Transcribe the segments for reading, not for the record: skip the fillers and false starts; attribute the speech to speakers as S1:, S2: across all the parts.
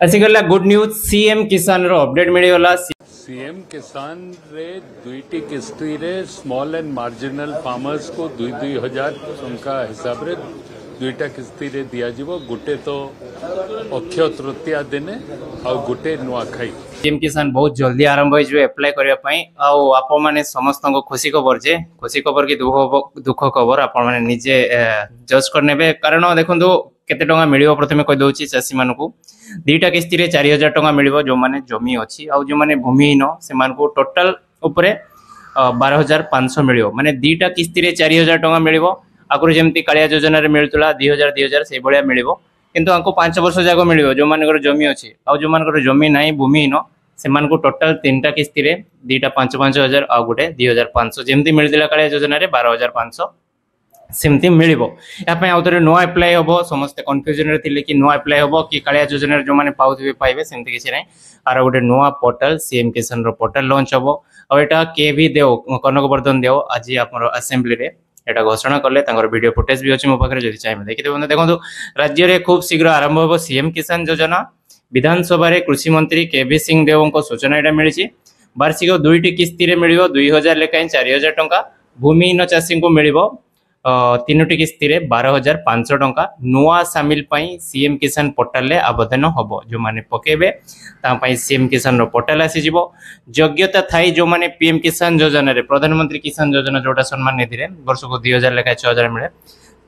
S1: ଆସିଗଲା good news, CM କିଷାନର update ମିଳିଗଲା।
S2: CM किसान ରେ ଦୁଇଟି କିସ୍ତିରେ ସ୍ମଲ୍ ଆଣ୍ଡ ମାର୍ଜିନାଲ ଫାର୍ମର୍ସକୁ 2-2 ହଜାର ଟଙ୍କା ହିସାବରେ ଦୁଇଟା କିସ୍ତିରେ ଦିଆଯିବ। ଗୋଟେ ତ ଅକ୍ଷୟ ତୃତୀୟା ଦିନେ ଆଉ ଗୋଟେ ନୂଆଖାଇ।
S1: ସିଏମ୍ କିଷାନ ବହୁତ ଜଲ୍ଦି ଆରମ୍ଭ ହେଇଯିବ ଆପ୍ଲାଏ କରିବା ପାଇଁ। ଆଉ ଆପଣମାନେ ସମସ୍ତଙ୍କ ଖୁସି ଖବର ଯେ, ଖୁସି ଖବର କି ଦୁଃଖ ଖବର, ଆପଣମାନେ ନିଜେ ଜଜ୍ କରିନେବେ। କାରଣ ଦେଖନ୍ତୁ, କେତେ ଟଙ୍କା ମିଳିବ ପ୍ରଥମେ କହିଦେଉଛି। ଚାଷୀମାନଙ୍କୁ ଦୁଇଟା କିସ୍ତିରେ 4000 ଟଙ୍କା ମିଳିବ ଯେଉଁମାନେ ଜମି ଅଛି, ଆଉ ଯେଉଁମାନେ ଭୂମିହୀନ ସେମାନଙ୍କୁ ଟୋଟାଲ ଉପରେ 12,500 ମିଳିବ। ମାନେ ଦୁଇଟା କିସ୍ତିରେ 4000 ଟଙ୍କା ମିଳିବ। ଆଗରୁ ଯେମିତି କାଳିଆ ଯୋଜନାରେ ମିଳୁଥିଲା 2000 2000, ସେଇଭଳିଆ ମିଳିବ। କିନ୍ତୁ ଆଙ୍କୁ 5 ବର୍ଷ ଯାକ ମିଳିବ ଯେଉଁମାନଙ୍କର ଜମି ଅଛି। ଆଉ ଯେଉଁମାନଙ୍କର ଜମି ନାହିଁ, ଭୂମିହୀନ, ସେମାନଙ୍କୁ ଟୋଟାଲ ତିନିଟା କିସ୍ତିରେ ଦୁଇଟା 5-5 ହଜାର ଆଉ ଗୋଟେ 2500, ଯେମିତି ମିଳିଥିଲା କାଳିଆ ଯୋଜନାରେ 12,500, ସେମିତି ମିଳିବ। ଏହା ପାଇଁ ଆଉ ଥରେ ନୂଆ ଆପ୍ଲାଏ ହବ। ସମସ୍ତେ କନଫ୍ୟୁଜନରେ ଥିଲେ କି ନୂଆ ଆପ୍ଲାଏ ହବ କି କାଳିଆ ଯୋଜନାରେ ଯେଉଁମାନେ ପାଉଥିବେ ପାଇବେ। ସେମିତି କିଛି ନାହିଁ। ଆର ଗୋଟେ ନୂଆ ପୋର୍ଟାଲ, ସିଏମ୍ କିଷାନର ପୋର୍ଟାଲ ଲଞ୍ଚ ହବ। ଆଉ ଏଇଟା କେ ଭି ଦେଓ, କନକ ବର୍ଦ୍ଧନ ଦେଓ ଆଜି ଆମର ଆସେମ୍ବଲିରେ ଏଇଟା ଘୋଷଣା କଲେ। ତାଙ୍କର ଭିଡ଼ିଓ ଫୁଟେଜ ବି ଅଛି ମୋ ପାଖରେ, ଯଦି ଚାହିଁବେ ଦେଖିଦେବେ। ଦେଖନ୍ତୁ, ରାଜ୍ୟରେ ଖୁବ୍ ଶୀଘ୍ର ଆରମ୍ଭ ହେବ ସିଏମ୍ କିଷାନ ଯୋଜନା। ବିଧାନସଭାରେ କୃଷିମନ୍ତ୍ରୀ କେ ଭି ସିଂ ଦେଓଙ୍କ ସୂଚନା ଏଇଟା ମିଳିଛି। ବାର୍ଷିକ ଦୁଇଟି କିସ୍ତିରେ ମିଳିବ 2000 ଲେଖାଏଁ 4000 ଟଙ୍କା। ଭୂମିହୀନ ଚାଷୀଙ୍କୁ ମିଳିବ ତିନୋଟି କିସ୍ତିରେ 12,500 ଟଙ୍କା। ନୂଆ ସାମିଲ ପାଇଁ ସିଏମ୍ କିଷାନ ପୋର୍ଟାଲରେ ଆବେଦନ ହବ। ଯେଉଁମାନେ ପକେଇବେ ତାଙ୍କ ପାଇଁ ସିଏମ୍ କିଷାନର ପୋର୍ଟାଲ ଆସିଯିବ। ଯୋଗ୍ୟତା ଥାଇ ଯେଉଁମାନେ ପିଏମ୍ କିଷାନ ଯୋଜନାରେ, ପ୍ରଧାନମନ୍ତ୍ରୀ କିଷାନ ଯୋଜନା ଯୋଉଟା ସମ୍ମାନ ନିଧିରେ ବର୍ଷକୁ 2000 ଲେଖାଏଁ 6000 ମିଳେ,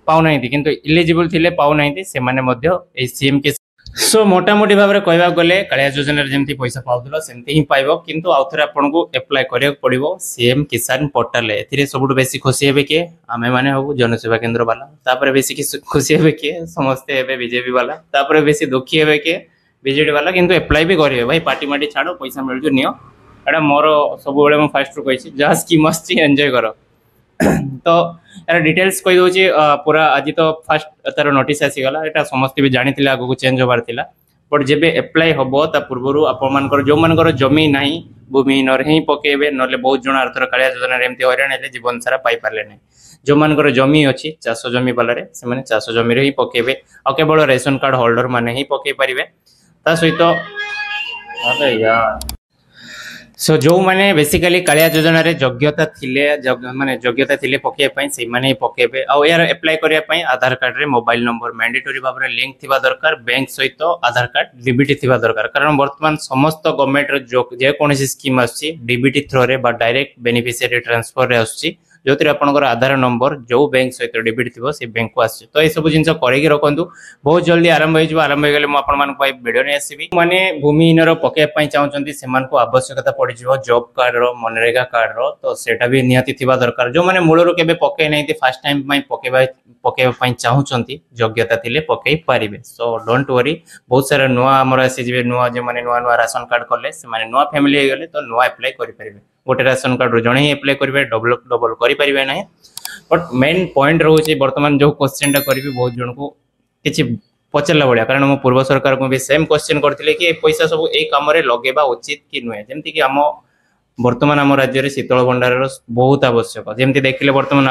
S1: ପାଉନାହାନ୍ତି, କିନ୍ତୁ ଇଲିଜିବଲ ଥିଲେ ପାଉନାହାନ୍ତି, ସେମାନେ ମଧ୍ୟ ଏଇ ସିଏମ୍ କିଷାନ। ସୋ ମୋଟାମୋଟି ଭାବରେ କହିବାକୁ ଗଲେ କାଳିଆ ଯୋଜନାରେ ଯେମିତି ପଇସା ପାଉଥିଲ ସେମିତି ହିଁ ପାଇବ, କିନ୍ତୁ ଆଉ ଥରେ ଆପଣଙ୍କୁ ଆପ୍ଲାଏ କରିବାକୁ ପଡିବ ସିଏମ୍ କିଷାନ ପୋର୍ଟାଲରେ। ଏଥିରେ ସବୁଠୁ ବେଶୀ ଖୁସି ହେବେ କିଏ? ଆମେ ମାନେ ହବୁ ଜନସେବା କେନ୍ଦ୍ର ବାଲା। ତାପରେ ବେଶୀ ଖୁସି ହେବେ କିଏ? ସମସ୍ତେ ହେବେ ବିଜେପି ବାଲା। ତାପରେ ବେଶୀ ଦୁଃଖୀ ହେବେ କିଏ? ବିଜେଡି ବାଲା। କିନ୍ତୁ ଆପ୍ଲାଏ ବି କରିବେ। ଭାଇ, ପାର୍ଟି ମାଟି ଛାଡ, ପଇସା ମିଳୁଛି ନିଅ। ଏଇଟା ମୋର ସବୁବେଳେ ମୁଁ ଫାଷ୍ଟରୁ କହିଛି, ଯାହା ସ୍କିମ୍ ଆସିଛି ଏନ୍ଜୟ କର। ତ ଏହାର ଡିଟେଲ୍ସ କହିଦେଉଛି ପୁରା। ଆଜି ତ ଫାଷ୍ଟ ତାର ନୋଟିସ୍ ଆସିଗଲା, ଏଇଟା ସମସ୍ତେ ବି ଜାଣିଥିଲେ ଆଗକୁ ଚେଞ୍ଜ ହବାର ଥିଲା। ବଟ୍ ଯେବେ ଆପ୍ଲାଏ ହବ ତା ପୂର୍ବରୁ ଆପଣମାନଙ୍କର ଯେଉଁମାନଙ୍କର ଜମି ନାହିଁ, ଭୂମିହୀନରେ ହିଁ ପକେଇବେ। ନହେଲେ ବହୁତ ଜଣ ଆରଥର କାଳିଆ ଯୋଜନାରେ ଏମିତି ହଇରାଣ ହେଲେ, ଜୀବନ ସାରା ପାଇପାରିଲେ ନାହିଁ। ଯେଉଁମାନଙ୍କର ଜମି ଅଛି, ଚାଷ ଜମି ବାଲାରେ, ସେମାନେ ଚାଷ ଜମିରେ ହିଁ ପକେଇବେ। ଆଉ କେବଳ ରେସନ କାର୍ଡ ହୋଲ୍ଡର ମାନେ ହିଁ ପକେଇ ପାରିବେ। ତା ସହିତ ଆରେ ୟାର, ସୋ ଯେଉଁମାନେ ବେସିକାଲି କାଳିଆ ଯୋଜନାରେ ଯୋଗ୍ୟତା ଥିଲେ, ମାନେ ଯୋଗ୍ୟତା ଥିଲେ ପକେଇବା ପାଇଁ, ସେଇମାନେ ହିଁ ପକେଇବେ। ଆଉ ଏହାର ଆପ୍ଲାଏ କରିବା ପାଇଁ ଆଧାର କାର୍ଡରେ ମୋବାଇଲ ନମ୍ବର ମ୍ୟାଣ୍ଡେଟୋରି ଭାବରେ ଲିଙ୍କ ଥିବା ଦରକାର, ବ୍ୟାଙ୍କ ସହିତ ଆଧାର କାର୍ଡ ଡିବିଟି ଥିବା ଦରକାର। କାରଣ ବର୍ତ୍ତମାନ ସମସ୍ତ ଗଭର୍ଣ୍ଣମେଣ୍ଟର ଯେକୌଣସି ସ୍କିମ୍ ଆସୁଛି, ଡିବିଟି ଥ୍ରୋରେ ବା ଡାଇରେକ୍ଟ ବେନିଫିସିଆରୀ ଟ୍ରାନ୍ସଫରରେ ଆସୁଛି, ଯେଉଁଥିରେ ଆପଣଙ୍କର ଆଧାର ନମ୍ବର ଯେଉଁ ବ୍ୟାଙ୍କ ସହିତ ଡିବିଟି ଥିବ ସେ ବ୍ୟାଙ୍କକୁ ଆସୁଛି। ତ ଏସବୁ ଜିନିଷ କରିକି ରଖନ୍ତୁ। ବହୁତ ଜଲ୍ଦି ଆରମ୍ଭ ହେଇଯିବ। ଆରମ୍ଭ ହେଇଗଲେ ମୁଁ ଆପଣମାନଙ୍କ ପାଇଁ ଭିଡ଼ିଓ ନେଇ ଆସିବି। ମାନେ ଭୂମିହୀନର ପକେଇବା ପାଇଁ ଚାହୁଁଛନ୍ତି, ସେମାନଙ୍କୁ ଆବଶ୍ୟକତା ପଡ଼ିଯିବ ଜବ୍ କାର୍ଡର, ମନରେଗା କାର୍ଡର। ତ ସେଇଟା ବି ନିହାତି ଥିବା ଦରକାର। ଯେଉଁମାନେ ମୂଳରୁ କେବେ ପକେଇ ନାହାନ୍ତି, ଫାର୍ଷ୍ଟ ଟାଇମ୍ ପାଇଁ ପକେଇବା ପାଇଁ ଚାହୁଁଛନ୍ତି, ଯୋଗ୍ୟତା ଥିଲେ ପକେଇ ପାରିବେ। So don't worry. ବହୁତ ସାରା ନୂଆ ଆମର ଆସିଯିବେ, ନୂଆ ଯେଉଁମାନେ ନୂଆ ନୂଆ ରାସନ କାର୍ଡ କଲେ, ସେମାନେ ନୂଆ ଫ୍ୟାମିଲି ହେଇଗଲେ ତ ନୂଆ ଆପ୍ଲାଏ କରିପାରିବେ। ଗୋଟେ ରାସନ କାର୍ଡରୁ ଜଣେ ହିଁ ଆପ୍ଲାଏ କରିବେ, ଡବଲ ଡବଲ କରିପାରିବେ ନାହିଁ। ବଟ୍ ମେନ୍ ପଏଣ୍ଟ ରହୁଛି, ବର୍ତ୍ତମାନ ଯେଉଁ କ୍ୱେଶ୍ଚନଟା କରିବି, ବହୁତ ଜଣଙ୍କୁ କିଛି ପଚାରିଲା ଭଳିଆ। କାରଣ ମୁଁ ପୂର୍ବ ସରକାରଙ୍କୁ ବି ସେମ୍ କ୍ୱେଶ୍ଚନ କରିଥିଲି କି ଏ ପଇସା ସବୁ ଏଇ କାମରେ ଲଗେଇବା ଉଚିତ କି ନୁହେଁ। ଯେମିତିକି ଆମ ବର୍ତ୍ତମାନ ଆମ ରାଜ୍ୟରେ ଶୀତଳ ଭଣ୍ଡାରର ବହୁତ ଆବଶ୍ୟକ। ଯେମିତି ଦେଖିଲେ ବର୍ତ୍ତମାନ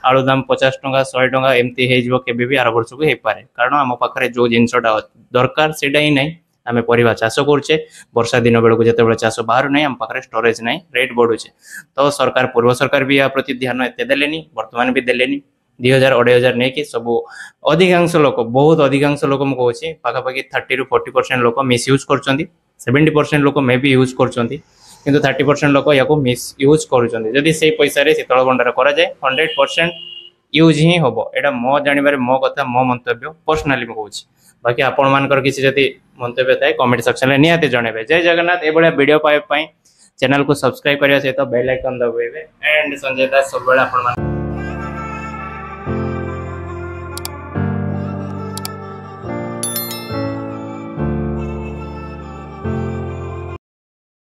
S1: ଆଳୁ ଦାମ 50 ଟଙ୍କା, 100 ଟଙ୍କା ଏମିତି ହେଇଯିବ, କେବେ ବି ଆର ବର୍ଷକୁ ହେଇପାରେ। କାରଣ ଆମ ପାଖରେ ଯୋଉ ଜିନିଷଟା ଦରକାର ସେଇଟା ହିଁ ନାହିଁ। ଆମେ ପରିବା ଚାଷ କରୁଛେ, ବର୍ଷା ଦିନ ବେଳକୁ ଯେତେବେଳେ ଚାଷ ବାହାରୁ ନାହିଁ, ଆମ ପାଖରେ ଷ୍ଟୋରେଜ ନାହିଁ, ରେଟ୍ ବଢୁଛି। ତ ସରକାର, ପୂର୍ବ ସରକାର ବି ୟା ପ୍ରତି ଧ୍ୟାନ ଏତେ ଦେଲେନି, ବର୍ତ୍ତମାନ ବି ଦେଲେନି। 2000 2500 ନେଇକି ସବୁ ଅଧିକାଂଶ ଲୋକ, ବହୁତ ଅଧିକାଂଶ ଲୋକ ମୁଁ କହୁଛି, ପାଖାପାଖି 30ରୁ 40% ଲୋକ ମିସ୍ ୟୁଜ୍ କରୁଛନ୍ତି। 70% ଲୋକ ମେ ବି ୟୁଜ୍ କରୁଛନ୍ତି, କିନ୍ତୁ 30% ଲୋକ ୟାକୁ ମିସ୍ ୟୁଜ୍ କରୁଛନ୍ତି। ଯଦି ସେଇ ପଇସାରେ ଶୀତଳ ଭଣ୍ଡାର କରାଯାଏ, 100% ୟୁଜ୍ ହିଁ ହବ। ଏଇଟା ମୋ ଜାଣିବାରେ, ମୋ କଥା, ମୋ ମନ୍ତବ୍ୟ, ପର୍ସନାଲି ମୁଁ କହୁଛି। ବାକି ଆପଣମାନଙ୍କର କିଛି ଯଦି ମନ୍ତବ୍ୟ ଥାଏ, କମେଣ୍ଟ ସେକ୍ସନରେ ନିହାତି ଜଣାଇବେ। ଜୟ ଜଗନ୍ନାଥ। ଏଇଭଳିଆ ଭିଡ଼ିଓ ପାଇବା ପାଇଁ ଚ୍ୟାନେଲକୁ ସବସ୍କ୍ରାଇବ କରିବା ସହିତ ବେଲ୍ ଆଇକନ୍ ଦବାଇବେ। ଆଣ୍ଡ ସଞ୍ଜୟ ଦାସ ସବୁବେଳେ ଆପଣମାନଙ୍କ